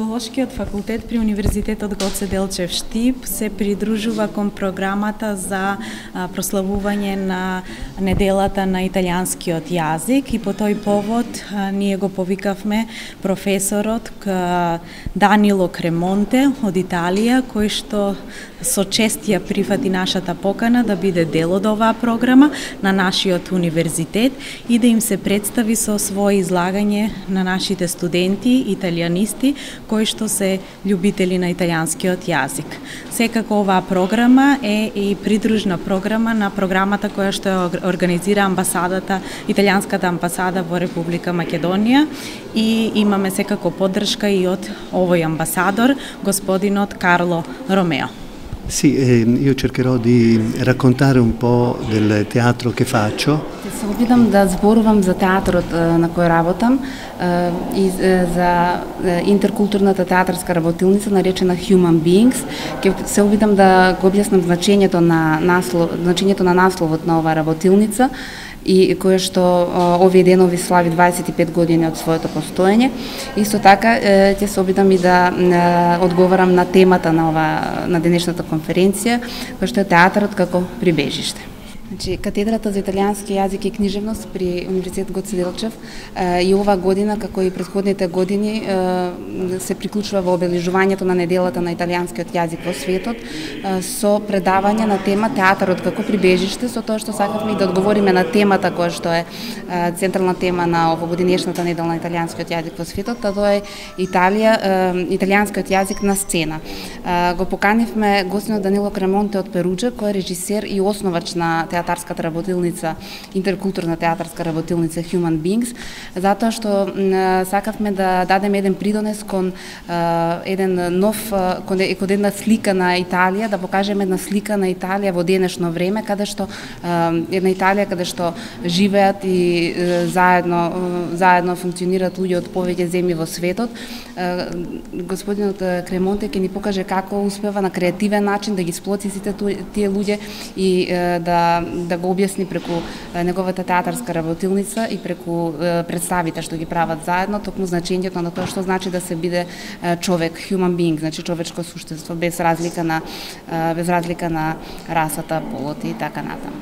Филолошкиот факултет при Универзитетот Гоце Делчев Штип се придружува кон програмата за прославување на неделата на италијанскиот јазик и по тој повод ние го повикавме професорот Данило Кремонте од Италија, кој што со чест ја прифати нашата покана да биде дел од оваа програма на нашиот универзитет и да им се представи со свое излагање на нашите студенти, италијанисти, кои што се љубители на италијанскиот јазик. Секако оваа програма е и придружна програма на програмата која што ја организира амбасадата, италијанската амбасада во Република Македонија и имаме секако поддршка и од овој амбасадор, господинот Карло Ромео. Sì, io cercherò di raccontare un po' del teatro che faccio. Се обидам да зборувам за театрот на кој работам и за интеркултурната театарска работилница наречена Human Beings. Ке се обидам да го објаснам значењето на насловот на оваа работилница и кое што овие денови слави 25 години од своето постоење. Исто така ќе се обидам и да одговарам на темата на денешната конференција, која што е театарот како прибежиште. Значи, катедрата за италијански јазик и книжевност при Универзитет Гоце Делчев и ова година, како и претходните години, се приклучува во обележувањето на неделата на италијанскиот јазик во светот со предавање на тема театарот како прибежиште, со тоа што сакавме и да одговориме на темата која што е централна тема на овогодинешната недела на италијанскиот јазик во светот, а тоа е италијанскиот јазик на сцена. Го поканивме господинот Данило Кремонте од Перуџа, кој е режисер и основач на театарската работилница, интеркултурна театарска работилница Human Beings, затоа што сакавме да дадеме еден придонес кон една слика на Италија, да покажеме една слика на Италија во денешно време, каде што една Италија каде што живеат и заедно функционираат луѓе од повеќе земји во светот. Господинот Кремонте ќе ни покаже како успева на креативен начин да ги сплоти сите тие луѓе и да го објасни преку неговата театарска работилница и преку представите што ги прават заедно, токму значењето на тоа што значи да се биде човек, human being, значи човечко суштество без разлика на расата, полот и така натаму.